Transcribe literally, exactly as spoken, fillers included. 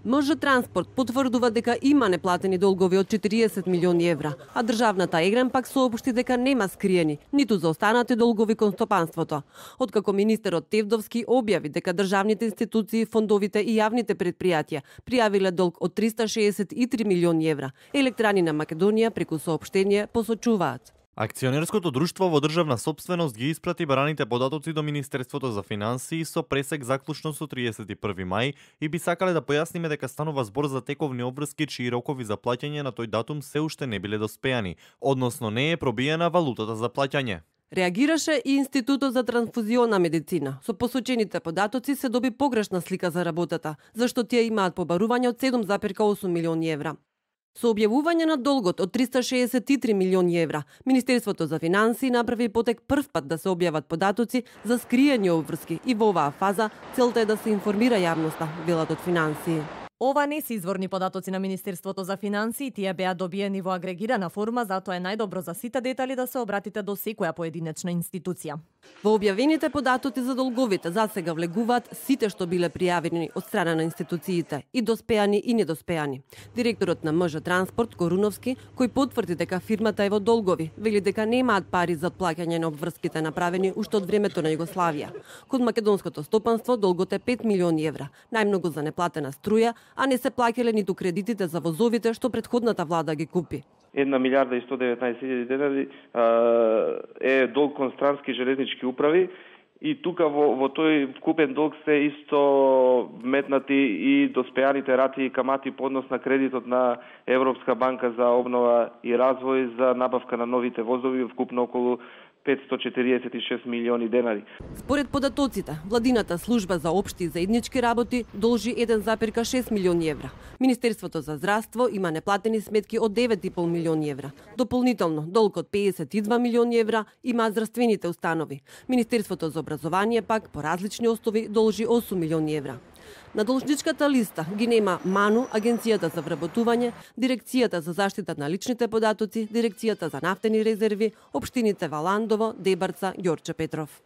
МЖ Транспорт потврдува дека има неплатени долгови од четириесет милиони евра, а државната Егрен пак соопшти дека нема скриени, ниту за останати долгови кон стопанството. Откако министерот Тевдовски објави дека државните институции, фондовите и јавните предпријатија пријавиле долг од триста шеесет и три милиони евра, Електрани на Македонија преку соопштение посочуваат. Акционерското друштво во државна сопственост ги испрати бараните податоци до Министерството за финансии со пресек заклучно со триесет и први мај и би сакале да појасниме дека станува збор за тековни обврски чии рокови за плаќање на тој датум се уште не биле доспеани, односно не е пробиена валутата за плаќање. Реагираше и Институтот за трансфузиона медицина. Со посочените податоци се доби погрешна слика за работата, зашто тие имаат побарување од седум зарез осум милиони евра. Со објавување на долгот од триста шеесет и три милиони евра, Министерството за финансии направи потек прв пат да се објават податоци за скриени обврски и во оваа фаза целта е да се информира јавноста, велат од финансии. Ова не се изворни податоци на Министерството за финансии, тие беа добиени во агрегирана форма, затоа е најдобро за сите детали да се обратите до секоја поединечна институција. Во објавените податоци за долговите засега влегуваат сите што биле пријавени од страна на институциите, и доспеани и недоспеани. Директорот на МЖ Транспорт Коруновски, кој потврди дека фирмата е во долгови, вели дека немаат пари за плаќање на обврските направени уште од времето на Југославија. Код македонското стопанство долгот е пет милиони евра, најмногу за неплатена струја, а не се плаќале ниту кредитите за возовите што претходната влада ги купи. Една милиарда и сто деветнаесет илјади денари е долг кон странски железнички управи и тука во, во тој вкупен долг се иско метнати и доспеаните рати и камати по однос на кредитот на Европска банка за обнова и развој за набавка на новите возови, вкупно околу петстотини четириесет и шест милиони денари. Според податоците, владината служба за општи и заеднички работи должи еден зарез шест милиони евра. Министерството за здравство има неплатени сметки од девет и пол милиони евра. Дополнително, долг од педесет и два милиони евра има здравствените установи. Министерството за образование пак по различни основи должи осум милиони евра. На должничката листа ги нема МАНУ, Агенцијата за вработување, Дирекцијата за заштита на личните податоци, Дирекцијата за нафтени резерви, општините Валандово, Дебарца, Ѓорче Петров.